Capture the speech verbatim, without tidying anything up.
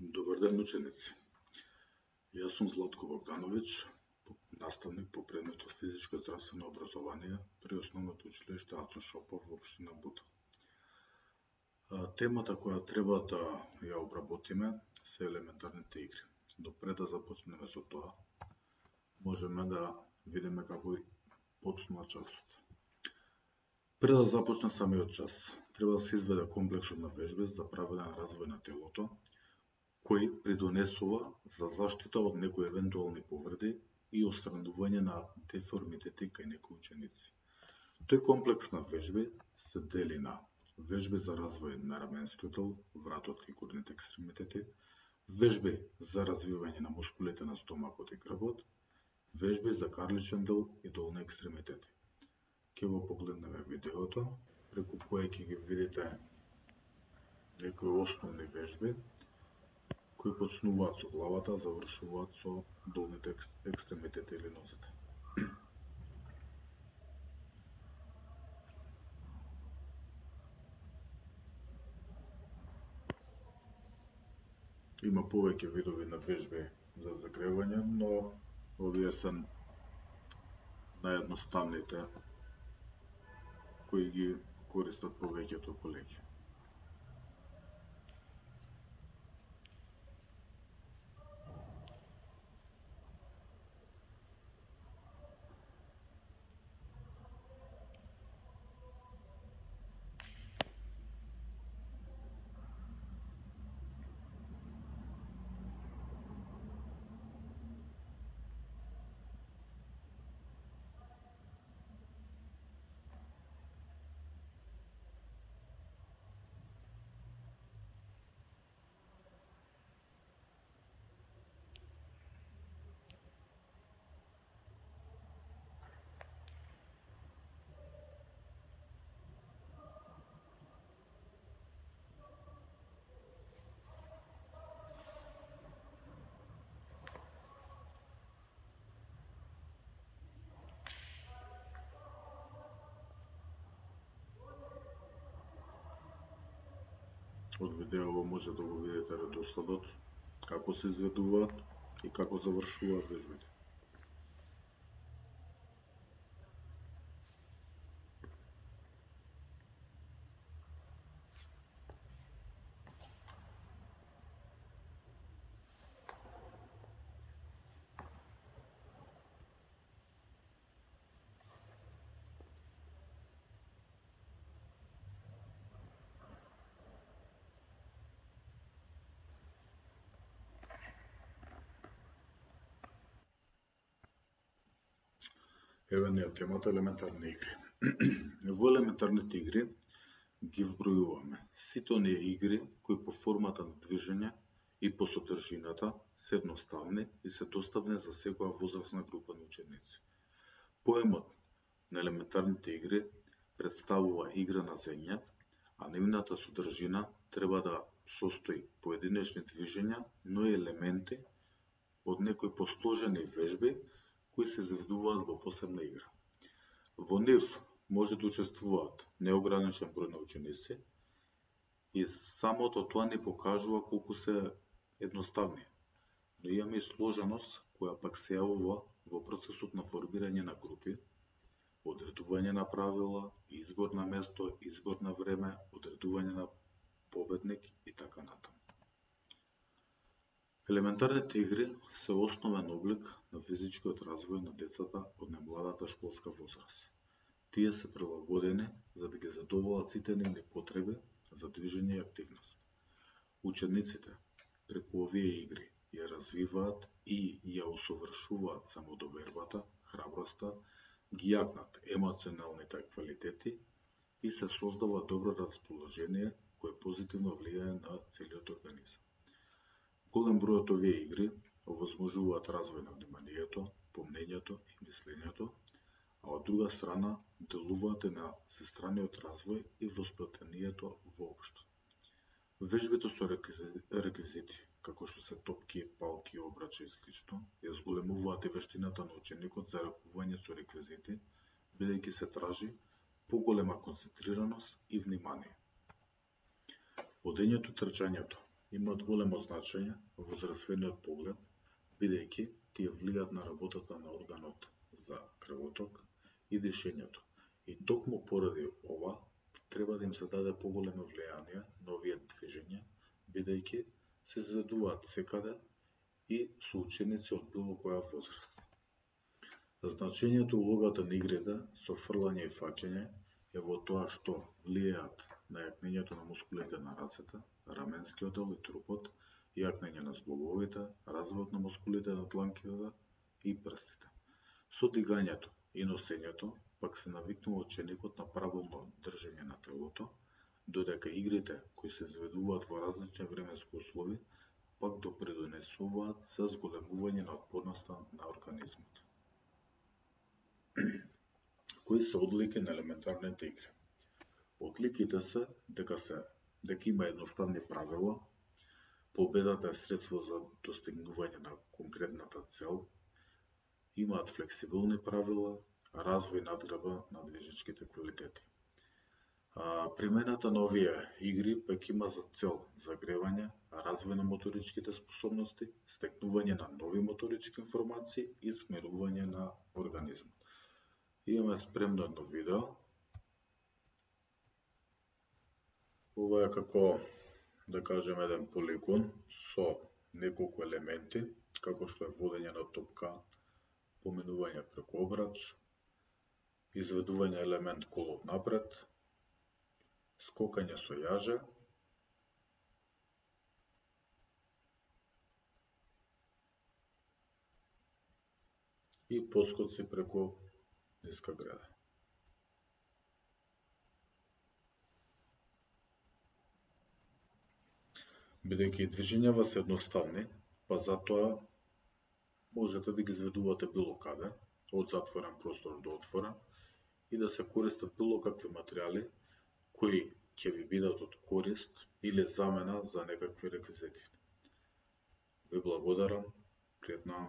Добар ден, ученици. Јас сум Златко Богдановиќ, наставник по предметот физичко и здравствено образование при основното училиште Ацо Шопов во општина Бутел. Темата која треба да ја обработиме се елементарните игри. Но пред да започнеме со тоа, можеме да видиме како почнува часот. Пред да започне самиот час, треба да се изведе комплексот на вежби за правилен развој на телото, кои придонесува за заштита од некои евентуални повреди и отстранување на деформитети кај некои ученици. Тој комплекс на вежби се дели на вежби за развој на раменскиот дел, вратот и горните екстремитети, вежби за развивање на мускулите на стомакот и грбот, вежби за карличен дел и долни екстремитети. Ќе го погледнеме видеото, преку кое ќе ги видите некои основни вежби, кои почнуваат со главата, завршуваат со долните екстремитети или нозете. Има повеќе видови на вежби за загревање, но овие се наједноставните кои ги користат повеќето колеги. Од видео може да го видите редоследот, како се изведуваат и како завршуваат вежбите. Еве ни е темата елементарни игри. Во елементарните игри ги вбројуваме сите оние игри кои по формата на движење и по содржината се едноставни и се достапни за секоја возрастна група на ученици. Поемот на елементарните игри представува игра на земја, а нивната содржина треба да состои поединечни движења, но и елементи од некои посложени вежби кои се изведуваат во посебна игра. Во нив може да учествуваат неограничен број на ученици и самото тоа ни покажува колку се едноставни. Но имаме и сложеност која пак се јавува во процесот на формирање на групи, одредување на правила, избор на место, избор на време, одредување на победник и така натаму. Елементарните игри се основен облик на физичкиот развој на децата од најмладата школска возраст. Тие се прилагодени за да ги задоволат сите нивни потреби за движење и активност. Учениците преку овие игри ја развиваат и ја усовршуваат самодовербата, храброста, ги јакнат емоционалните квалитети и се создава добро расположение кое позитивно влијае на целиот организам. Голем број од овие игри овозможуваат развој на вниманието, помнењето и мислењето, а од друга страна делуваат и на сестраниот развој и восплетението воопшто. Вежбите со реквизити, како што се топки, палки, обрачи и слично, ја зголемуваат и вештината на ученикот за ракување со реквизити, бидејќи се тражи поголема концентрираност и внимание. Одењето, трчањето имаат големо значење во здравствениот поглед, бидејќи тие влијаат на работата на органот за крвоток и дишењето. И токму поради ова, треба да им се даде поголемо влијание на овие движења, бидејќи се изведуваат секаде и со ученици од било која возраст. Значењето улогата на игрите со фрлање и фаќање е во тоа што влијаат на јакнењето на мускулите на рацете, раменскиот дел и трупот, јакнење на зглобовите, развојот на мускулите на дланките и прстите. Со дигањето и носењето пак се навикнува ученикот на правилно држење на телото, додека игрите кои се изведуваат во различни временски услови пак допринесуваат за зголемување на отпорноста на организмот. Кои се одлики на елементарните игри? Одликите се дека се дека има едноставни правила, победата е средство за достигнување на конкретната цел, имаат флексибилни правила, развој и надградба на движечките квалитети. А, примената на овие игри пак има за цел загревање, развој на моторичките способности, стекнување на нови моторички информации и смирување на организмот. Имаме спремно едно видео. Ова е како, да кажем, еден полигон со неколку елементи, како што е водење на топка, поминување преку обрач, изведување елемент колот напред, скокање со јаже, и поскоци преку ниска града. Бидејќи движењава се едноставни, па затоа можете да ги изведувате било каде, од затворен простор до отворен, и да се користат било какви материјали кои ќе ви бидат од корист или замена за некакви реквизити. Ви благодарам, пријатна